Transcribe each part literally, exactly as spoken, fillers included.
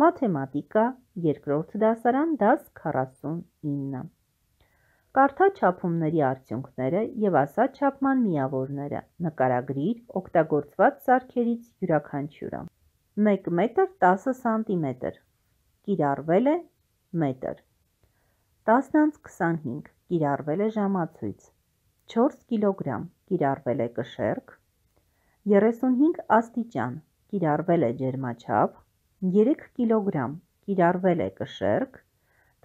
Մաթեմատիկա, երկրորդ դասարան, դաս քառասունինը։ Կարդա չափումների արդյունքները և ասա չափման միավորները, նկարագրիր օգտագործված սարքերից յուրաքանչյուրը։ մեկ մետր տասը սանտիմետր, կիրառվել է մետր։ տասն անց քսանհինգ, կիրառվել է ժամացույց։ չորս կիլոգրամ, կիրառվել է կշեռք։ երեսունհինգ աստիճան, կիրառվել է ջերմաչափ։ երեք կիլոգրամ, կիրառվել է կշեռք։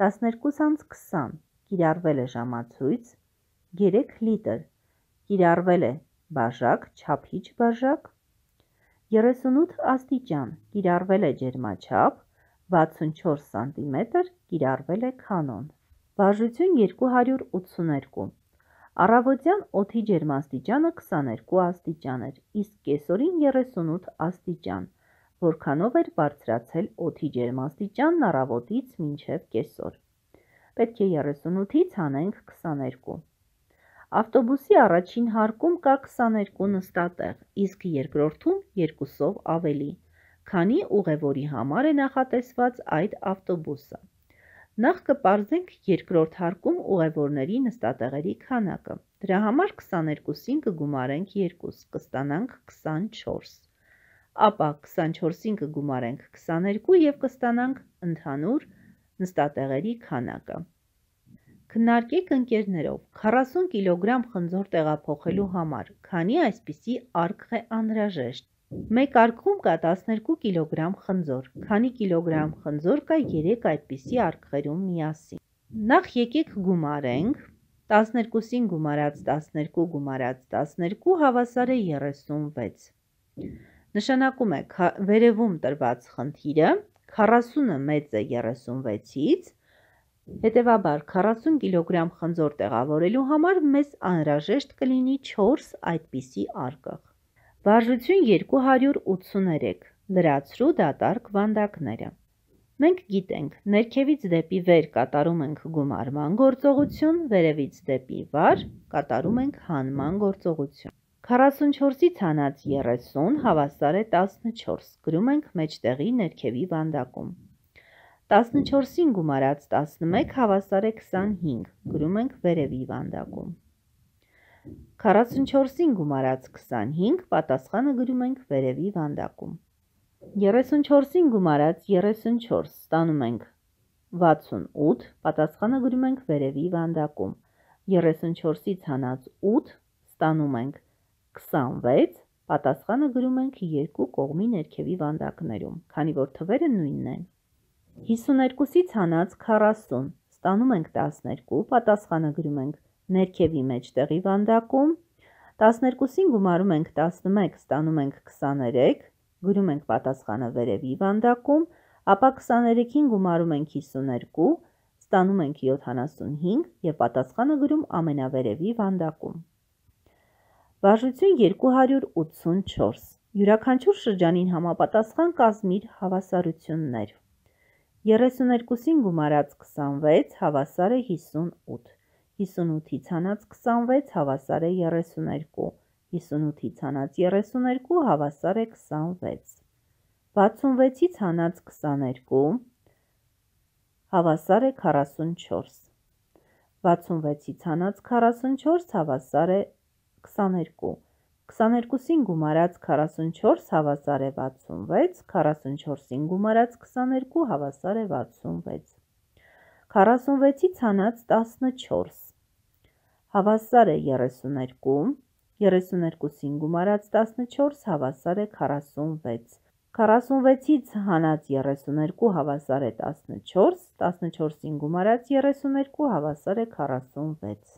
տասներկուս անց քսան, կիրառվել է ժամացույց։ երեք լիտր, կիրառվել է բաժակ, չափիչ բաժակ։ երեսունութ աստիճան, կիրառվել է ջերմաչափ։ վաթսունչորս սանտիմետր, կիրառվել է կանոն։ Վարժություն երկու հարյուր ութսուներկու։ Առավոտյան օդի ջերմաստիճանը քսաներկու աստիճան էր, իսկ կեսօրին երեսունութ աստիճան, որքանով էր բարձրացել օդի ջերմաստիճանն առավոտից մինչև կեսօր։ Պետք է երեսունութից հանենք քսաներկու։ Ավտոբուսի առաջին հարկում կա քսաներկու նստատեղ, իսկ երկրորդում երկուսով ավելի, քանի ուղևորի համար է նախատեսված այդ ավտոբուսը։ Նախ կպարզենք երկրորդ հարկում ուղևորների նստատեղերի քանակը։ Դրա համար քսաներկուսին կգումարենք երկու, կստանանք քսանչորս։ Ապա քսանչորսին կգումարենք քսաներկու և կստանանք ընդհանուր նստատեղերի քանակը։ Քննարկեք ընկերներով քառասուն կիլոգրամ խնձոր տեղափոխելու համար, քանի այսպիսի արկղ է անհրաժեշտ։ Մեկ արկղում կա տասներկու կիլոգրամ խնձոր, քանի կիլոգրամ խնձոր կա երեք այդպիսի արկղերում միասին։ Նախ եկեք գումարենք, տասներկուսին գումարած տասներկու գումարած տասներկու հավասար է երեսունվեց։ Նշանակում է վերևում տրված խնդիրը, քառասունը մեծ է երեսունվեցից, հետևաբար քառասուն կիլոգրամ խնձոր տեղավորելու համար մեզ անհրաժեշտ կլինի չորս այդպիսի արկղ։ Վարժություն երկու հարյուր ութսուներեք, լրացրու դատարկ վանդակները։ Մենք գիտենք, ներքևից դեպի վեր կատարում ենք գումարման գործողություն, վերևից դեպի վար կատարում ենք հանման գործողություն։ քառասունչորսից հանած երեսուն հավասար է տասնչորս, գրում ենք մեջտեղի ներքևի վանդակում։ տասնչորսին գումարած տասնմեկ հավասար է քսանհինգ, գրում ենք վերևի վանդակում։ քառասունչորսին գումարած քսանհինգ, պատասխանը գրում ենք վերևի վանդակում։ երեսունչորսին գումարած երեսունչորս, ստանում ենք վաթսունութ, պատասխանը գրում ենք վերևի վանդակում։ երեսունչորսից հանած ութ, ստանում ենք քսանվեց, պատասխանը գրում ենք երկու կողմի ներքևի վանդակներում, քանի որ թվերը նույնն են։ հիսուներկուսից հանած քառասուն, ստանում ենք տասներկու, պատասխանը գրում ենք ներքևի մեջտեղի վանդակում։ տասներկուսին գումարում ենք տասնմեկ, ստանում ենք քսաներեք, գրում ենք պատասխանը վերևի վանդակում, ապա քսաներեքին գումարում ենք հիսուներկու, ստանում ենք յոթանասունհինգ և պատասխանը գրում ամենավերևի վանդակում։ Վարժություն երկու հարյուր ութսունչորս։ Յուրաքանչյուր շրջանին համապատասխան կազմիր հավասարություններ։ երեսուներկուսին գումարած քսանվեց հավասար է հիսունութ, հիսունութից հանած քսանվեց հավասար է երեսուներկու, հիսունութից հանած երեսուներկու հավասար է քսանվեց։ վաթսունվեցից հանած քսաներկու հավասար է քառասունչորս, վաթսունվեցից հանած քառասունչորս հավասար է քսաներկու, քսաներկուսին գումարած քառասունչորս հավասար է վաթսունվեց, քառասունչորսին գումարած քսաներկու հավասար է վաթսունվեց։ քառասունվեցից հանած տասնչորս հավասար է երեսուներկու, երեսուներկուսին գումարած տասնչորս հավասար է քառասունվեց, քառասունվեցից հանած երեսուներկու հավասար է տասնչորս, տասնչորսին գումարած երեսուներկու հավասար է քառասունվեց։